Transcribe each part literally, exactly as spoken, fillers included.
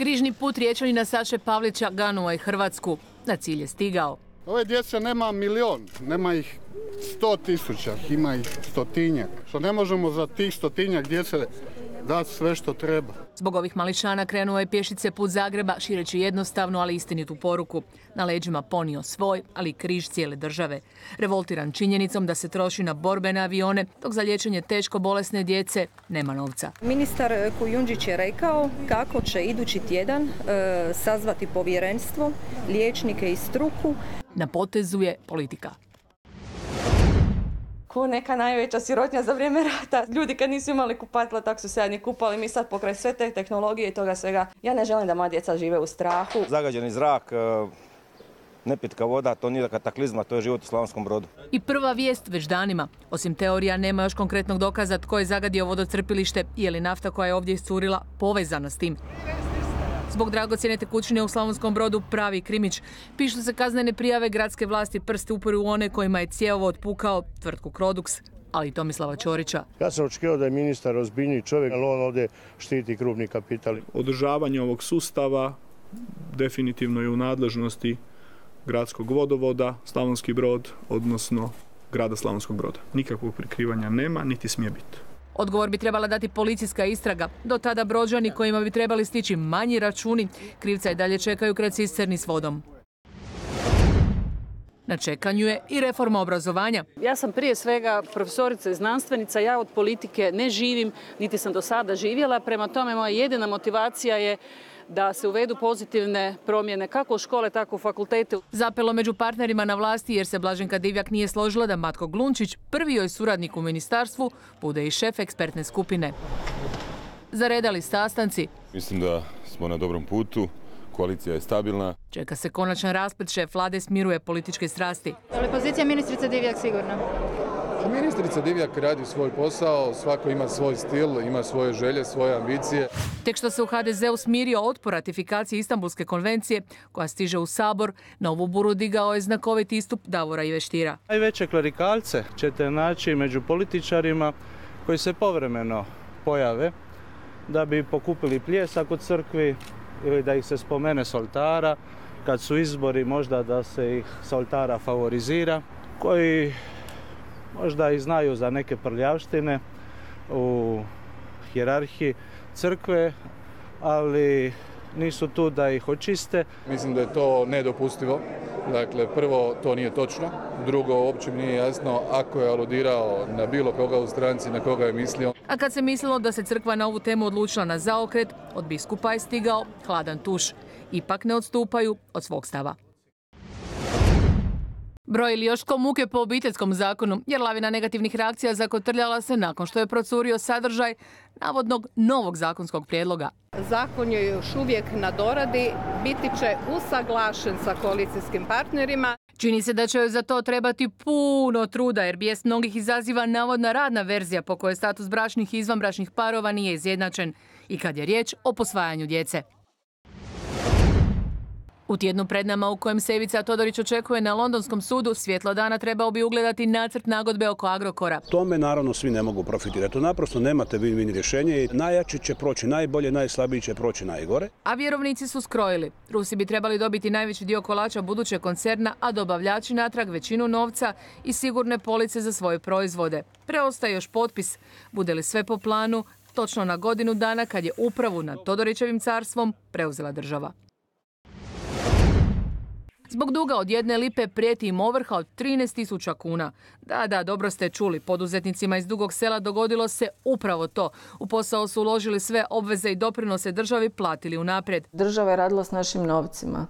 Križni put Riječanina Saše Pavlića ganuo je Hrvatsku. Na cilj je stigao. Ove djece nema milion, nema ih sto tisuća, ima ih stotinjak. Što ne možemo za tih stotinjak djece dati sve što treba. Zbog ovih mališana krenuo je pješice put Zagreba, šireći jednostavnu, ali istinitu poruku. Na leđima ponio svoj, ali i križ cijele države. Revoltiran činjenicom da se troši na borbene avione, dok za liječenje teško bolesne djece nema novca. Ministar Kujundžić je rekao kako će idući tjedan e, sazvati povjerenstvo, liječnike i struku. Na potezu je politika. Ko neka najveća sirotinja za vrijeme rata. Ljudi kad nisu imali kupatila, tak su se jadni kupali. Mi sad pokraj sve te tehnologije i toga svega. Ja ne želim da moja djeca žive u strahu. Zagađeni zrak, nepitka voda, to nije kataklizma, to je život u Slavonskom Brodu. I prva vijest već danima. Osim teorija, nema još konkretnog dokaza tko je zagadio vodocrpilište i je li nafta koja je ovdje iscurila povezana s tim. Zbog dragocjene tekućine u Slavonskom Brodu pravi krimić. Pišu se kaznene prijave, gradske vlasti prste uporu u one kojima je cjevovod otpukao tvrtku Crodux, ali i Tomislava Ćorića. Ja sam očekivao da je ministar ozbiljniji čovjek, ali on ovdje štiti krupni kapital. Održavanje ovog sustava definitivno je u nadležnosti gradskog vodovoda, Slavonski Brod, odnosno grada Slavonskog Broda. Nikakvog prikrivanja nema, niti smije biti. Odgovor bi trebala dati policijska istraga. Do tada Brođani kojima bi trebali stići manji računi, krivca i dalje čekaju kraj cisterni s vodom. Na čekanju je i reforma obrazovanja. Ja sam prije svega profesorica i znanstvenica, ja od politike ne živim, niti sam do sada živjela, prema tome moja jedina motivacija je da se uvedu pozitivne promjene kako u škole, tako u fakultete. Zapelo među partnerima na vlasti jer se Blaženka Divjak nije složila da Matko Glunčić, prvi joj suradnik u ministarstvu, bude i šef ekspertne skupine. Zaredali sastanci. Mislim da smo na dobrom putu, koalicija je stabilna. Čeka se konačan rasplet, šef vlade smiruje političke strasti. Je li pozicija ministrice Divjak sigurna? Ministrica Divjak radi svoj posao, svako ima svoj stil, ima svoje želje, svoje ambicije. Tek što se u ha de zeu smirio otpor ratifikacije Istanbulske konvencije, koja stiže u Sabor, novu buru digao je znakoviti istup Davora Iveštira. Najveće klerikalce ćete naći među političarima koji se povremeno pojave da bi pokupili pljesak u crkvi ili da ih se spomene s oltara, kad su izbori možda da se ih s oltara favorizira, koji možda i znaju za neke prljavštine u hijerarhiji crkve, ali nisu tu da ih očiste. Mislim da je to nedopustivo. Dakle, prvo, to nije točno. Drugo, uopće mi nije jasno ako je aludirao na bilo koga u stranci, na koga je mislio. A kad se mislilo da se crkva na ovu temu odlučila na zaokret, od biskupa je stigao hladan tuš. Ipak ne odstupaju od svog stava. Brojili još ko muke po obiteljskom zakonu, jer lavina negativnih reakcija zakotrljala se nakon što je procurio sadržaj navodnog novog zakonskog prijedloga. Zakon je još uvijek na doradi, biti će usaglašen sa koalicijskim partnerima. Čini se da će joj za to trebati puno truda, jer bijes mnogih izaziva navodna radna verzija po kojoj status bračnih i izvanbračnih parova nije izjednačen i kad je riječ o posvajanju djece. U tjednu pred nama u kojem se Ivica Todorić očekuje na londonskom sudu, svjetlo dana trebao bi ugledati nacrt nagodbe oko Agrokora. Tome naravno svi ne mogu profitirati. To naprosto nemate win-win rješenje i najjači će proći najbolje, najslabiji će proći najgore. A vjerovnici su skrojili. Rusi bi trebali dobiti najveći dio kolača budućeg koncerna, a dobavljači natrag većinu novca i sigurne police za svoje proizvode. Preostaje još potpis. Bude li sve po planu, točno na godinu dana kad je upravu nad Todorićevim carstvom preuzela država. Zbog duga od jedne lipe prijeti im ovrha od trinaest tisuća kuna. Da, da, dobro ste čuli. Poduzetnicima iz Dugog Sela dogodilo se upravo to. U posao su uložili sve obveze i doprinose državi, platili unaprijed. Država je radila s našim novcima.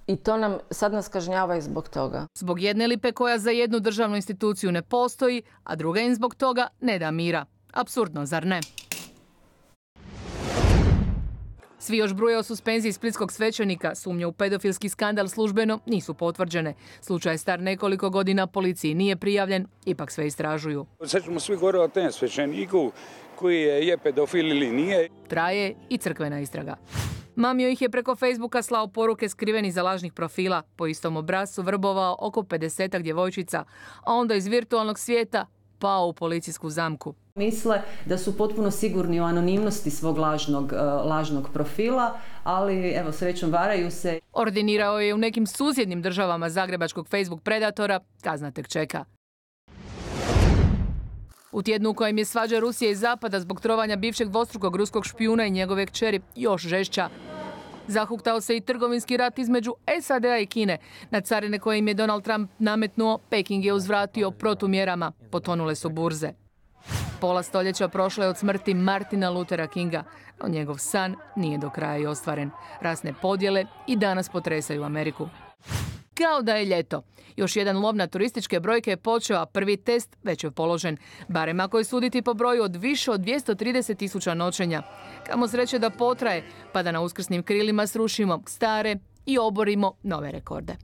I to nam, sad nas kažnjava i zbog toga. Zbog jedne lipe koja za jednu državnu instituciju ne postoji, a druga im zbog toga ne da mira. Apsurdno, zar ne? Svi još bruje o suspenziji splitskog svećenika. Sumnje u pedofilski skandal službeno nisu potvrđene. Slučaj je star nekoliko godina, policiji nije prijavljen, ipak sve istražuju. Sad ćemo svi gore o tem svećeniku koji je, je pedofil ili nije. Traje i crkvena istraga. Mamio ih je preko Facebooka slao poruke skriveni za lažnih profila. Po istom obrascu vrbovao oko pedesetak djevojčica, a onda iz virtualnog svijeta pao u policijsku zamku. Misle da su potpuno sigurni u anonimnosti svog lažnog, lažnog profila, ali evo srećom varaju se. Ordinirao je u nekim susjednim državama zagrebačkog Facebook predatora, kazna tek čeka. U tjednu u kojem je svađa Rusije i Zapada zbog trovanja bivšeg dvostrukog ruskog špijuna i njegove kćeri još žešća. Zahuktao se i trgovinski rat između S A D-a i Kine. Na carine koje im je Donald Trump nametnuo, Peking je uzvratio protumjerama. Potonule su burze. Pola stoljeća prošlo je od smrti Martina Luthera Kinga, no njegov san nije do kraja i ostvaren. Rasne podjele i danas potresaju Ameriku. Kao da je ljeto. Još jedan lov na turističke brojke je počeo, a prvi test već je položen. Barem ako je suditi po broju od više od dvjesto trideset tisuća noćenja. Kamo sreće da potraje, pa da na uskrsnim krilima srušimo stare i oborimo nove rekorde.